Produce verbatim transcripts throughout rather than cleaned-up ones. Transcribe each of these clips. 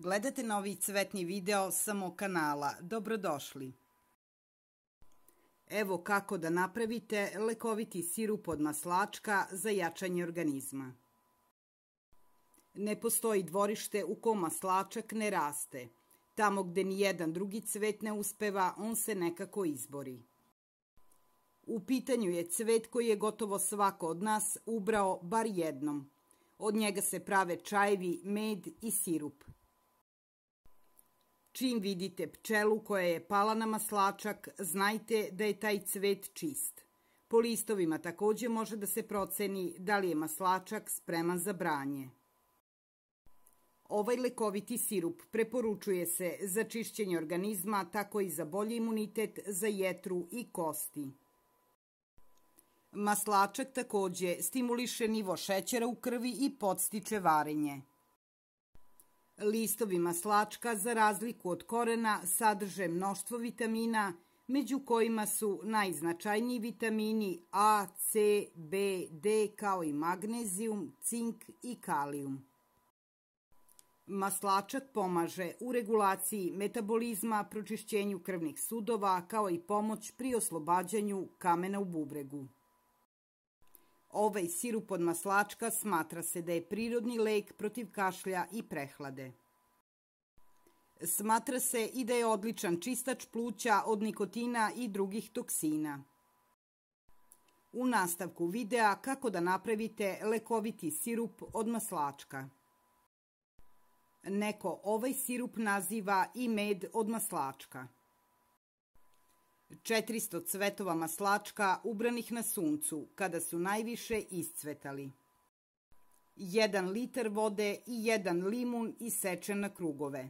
Gledate novi cvetni video sa mog kanala. Dobrodošli. Evo kako da napravite lekoviti sirup od maslačka za jačanje organizma. Ne postoji dvorište u kom maslačak ne raste. Tamo gde ni jedan drugi cvet ne uspeva, on se nekako izbori. U pitanju je cvet koji je gotovo svako od nas ubrao bar jednom. Od njega se prave čajevi, med i sirup. Čim vidite pčelu koja je pala na maslačak, znajte da je taj cvet čist. Po listovima takođe može da se proceni da li je maslačak spreman za branje. Ovaj lekoviti sirup preporučuje se za čišćenje organizma, tako i za bolji imunitet, za jetru i kosti. Maslačak takođe stimuliše nivo šećera u krvi i podstiče varenje. Listovi maslačka, za razliku od korena, sadrže mnoštvo vitamina, među kojima su najznačajniji vitamini A, C, B, D, kao i magnezijum, cink i kalijum. Maslačak pomaže u regulaciji metabolizma, pročišćenju krvnih sudova, kao i pomoć pri oslobađanju kamena u bubregu. Ovaj sirup od maslačka smatra se da je prirodni lek protiv kašlja i prehlade. Smatra se i da je odličan čistač pluća od nikotina i drugih toksina. U nastavku videa kako da napravite lekoviti sirup od maslačka. Neko ovaj sirup naziva i med od maslačka. četiristo cvetova maslačka ubranih na suncu, kada su najviše iscvetali. jedan litar vode i jedan limun isečen na krugove.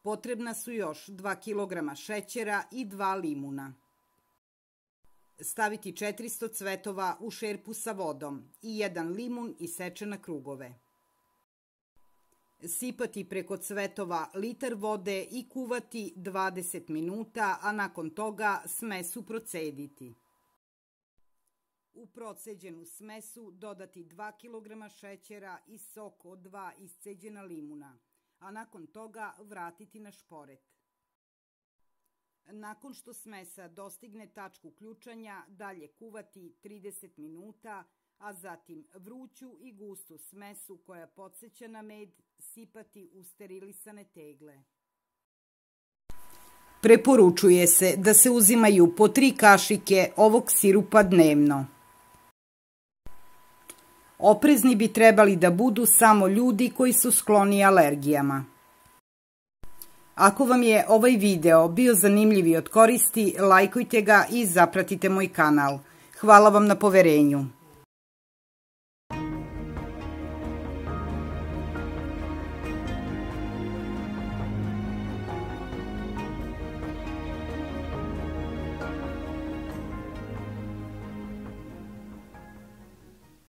Potrebna su još dva kilograma šećera i dva limuna. Staviti četiristo cvetova u šerpu sa vodom i jedan limun isečen na krugove. Sipati preko cvetova litar vode i kuvati dvadeset minuta, a nakon toga smesu procediti. U proceđenu smesu dodati dva kilograma šećera i sok od dva isceđena limuna, a nakon toga vratiti na šporet. Nakon što smesa dostigne tačku ključanja, dalje kuvati trideset minuta, a zatim vruću i gustu smesu koja podseća na med sipati u sterilisane tegle. Preporučuje se da se uzimaju po tri kašike ovog sirupa dnevno. Oprezni bi trebali da budu samo ljudi koji su skloni alergijama. Ako vam je ovaj video bio zanimljiv i od koristi, lajkujte ga i zapratite moj kanal. Hvala vam na poverenju.